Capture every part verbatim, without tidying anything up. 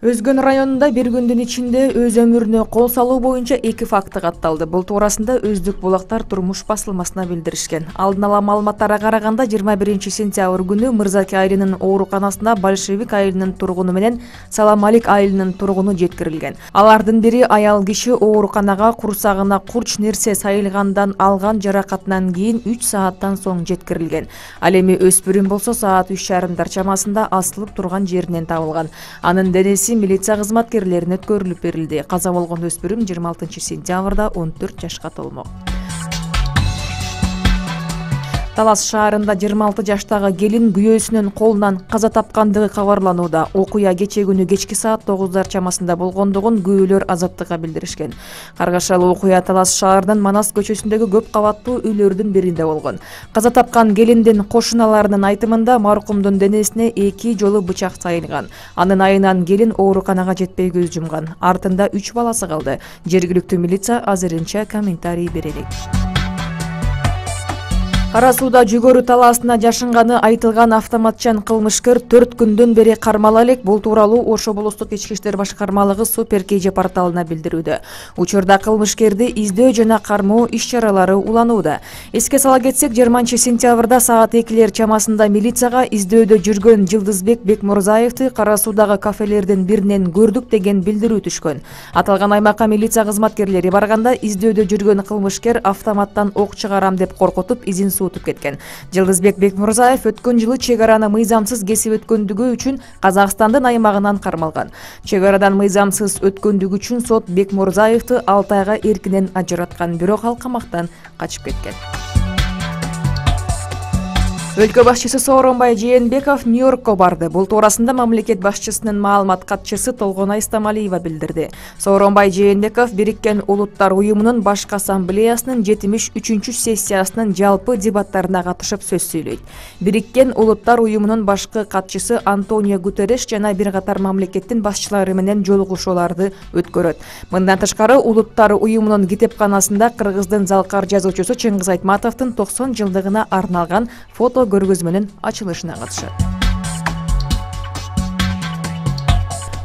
Өзгөн районунда бир күндүн ичинде өз өмүрүнө кол салуу боюнча эки факты катталды. Бул туурасында Өздүк булактар турмуш басылмасына билдиришкен. Алдын ала маалыматтарга караганда жыйырма биринчи сентябрь күнү Мырзаке айылынын ооруканасына Большевик айылынын тургуну менен Саламалик айылынын тургуну жеткирилген. Алардын бири аял киши ооруканага курсагына курч нерсе сайылгандан алган жаракатынан кийин үч сааттан соң жеткирилген. Ал эми өспүрүм болсо саат үч жарымдар чамасында асылып турган жеринен табылган. Анын денеси милиция кызматкерлерине өткөрүлүп берилди. Каза болгон өспүрүм жыйырма алтынчы сентябрда он төрт жашка толмок. Талас шаарында жыйырма алты жаштагы келин күйөөсүнүн колунан каза тапкандыгы кабарланууда. Окуя кече күнү кечки саат тогуздар чамасында болгондугун күбөлөр Азаттыкка билдиришкен. Каргашалуу окуя Талас шаарынын Манас көчөсүндөгү көп кабаттуу үйлөрдүн биринде болгон. Каза тапкан келиндин кошуналарынын айтымында маркумдун денесине эки жолу бычак сайылган. Анын айынан келин ооруканага жетпей көз жумган. Артында үч баласы калды. Жергиликтүү милиция азырынча комментарий бере элек. Кара сууда жүгөрү талаасына жашынганы айтылган автоматчан кылмышкер төрт күндөн бери кармала элек. Бул тууралуу Ош облустук ички иштер башкармалыгы Супер КЖ порталына билдирүүдө. Учурда кылмышкерди издөө жана кармоо иш-чаралары уланууда. Эске сала кетсек, жыйырманчы сентябрда саат экилер чамасында милицияга издөөдө жүргөн Жылдызбек Бекмурзаевди кара суудагы кафелердин биринен көрдүк деген билдирүү түшкөн. Аталган аймакка милиция кызматкерлери барганда издөөдө жүргөн кылмышкер автоматтан ок чыгарам деп коркутуп изин утуп кеткен. Жылдызбек Бекмурзаев өткөн жылы чек араны мыйзамсыз кесип өткөндүгү үчүн Казакстандын аймагынан кармалган. Чек арадан мыйзамсыз өткөндүгү үчүн сот Бекмурзаевди алты айга эркинен ажыраткан, бирок ал камактан качып кеткен. Өлкө башчысы Сооронбай Жээнбеков Нью-Йоркко барды. Бул туурасында мамлекет башчысынын маалымат катчысы Толгонай Истамалиева билдирди. Сооронбай Жээнбеков Бириккен Улуттар уюмунун башкы ассамблеясынын жетимиш үчүнчү сессиясынын жалпы дебаттарына катышып сөз сүйлөйт. Бириккен Улуттар уюмунун башкы катчысы Антонио Гутерреш жана бир катар мамлекеттин башчылары менен жолугушууларды өткөрөт. Мындан тышкары Улуттар уюмунун китепканасында кыргыздын залкар жазуучусу Чыңгыз Айтматовдун токсон жылдыгына арналган фото көргөзмөнүн ачылышына катышат.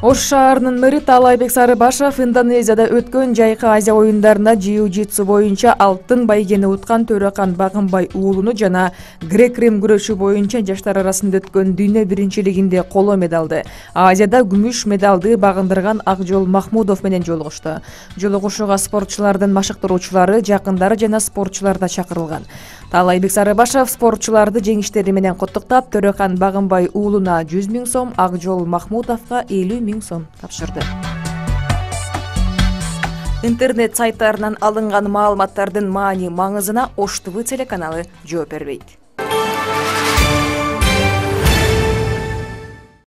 Ош шаарынын мэри Таалайбек Сарыбашов Индонезияда өткөн жайкы Азия оюндарында джиу-джитсу боюнча алтын байгени уткан Төрөкан Багынбай уулуну жана грек-рим күрөшү боюнча жаштар арасында өткөн дүйнө биринчилигинде коло медалды, Азияда күмүш медалды багындырган Акжол Махмудов менен жолугушту. Жолугушууга спортчулардын машыктыруучулары, жакындары жана спортчулар да чакырылган. Таалайбек Сарыбашов спортчуларды жеңиштери менен куттуктап, Төрөкан Багынбай уулуна жүз миң сом, Акжол Махмудовго элүү миң сом тапшырды. Интернет сайттарынан алынган маалыматтардын маани маңызына Ош ТВ телеканалы жооп бербейт.